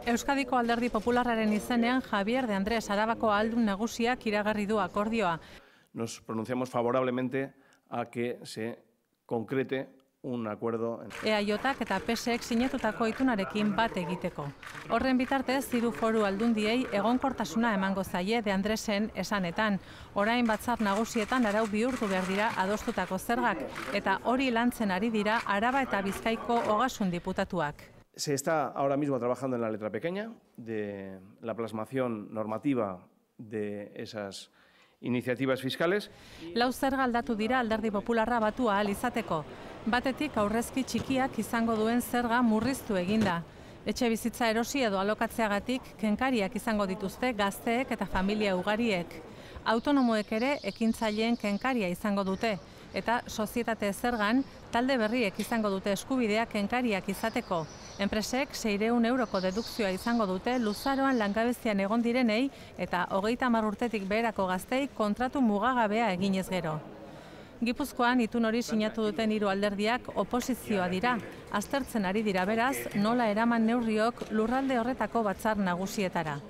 Euskadiko Alderdi Popularraren izenean Javier de Andrés Arabako ahaldun nagusiak iragarri du akordioa. Nos pronunciamos favorablemente a que se concrete un acuerdo. EAJak eta PSek sinatutako itunarekin bat egiteko. Horren bitartez, hiru foru aldundiei egonkortasuna emango zaie de Andresen esanetan. Orain batzar nagusietan arau bihurtu behar dira adostutako zergak, eta hori lantzen ari dira Araba eta Bizkaiko ogasun diputatuak. Se está ahora mismo trabajando en la letra pequeña de la plasmación normativa de esas iniciativas fiscales. Lau zerga aldatu dira Alderdi Popularra batu ahal izateko. Batetik aurrezki txikiak izango duen zerga murriztu eginda. Etxe bizitza erosi edo alokatzeagatik kenkariak izango dituzte gazteek eta familia ugariek. Autonomoek ere ekintzaileen kenkaria izango dute. Eta sozietate zergan, talde berriek izango dute eskubidea kenkariak izateko. Enpresek 600 euroko dedukzioa izango dute luzaroan langabezian egon direnei eta 30 urtetik beherako gaztei kontratu mugagabea eginez gero. Gipuzkoan itun hori sinatu duten hiru alderdiak oposizioa dira. Aztertzen ari dira beraz, nola eraman neurriok lurralde horretako batzar nagusietara.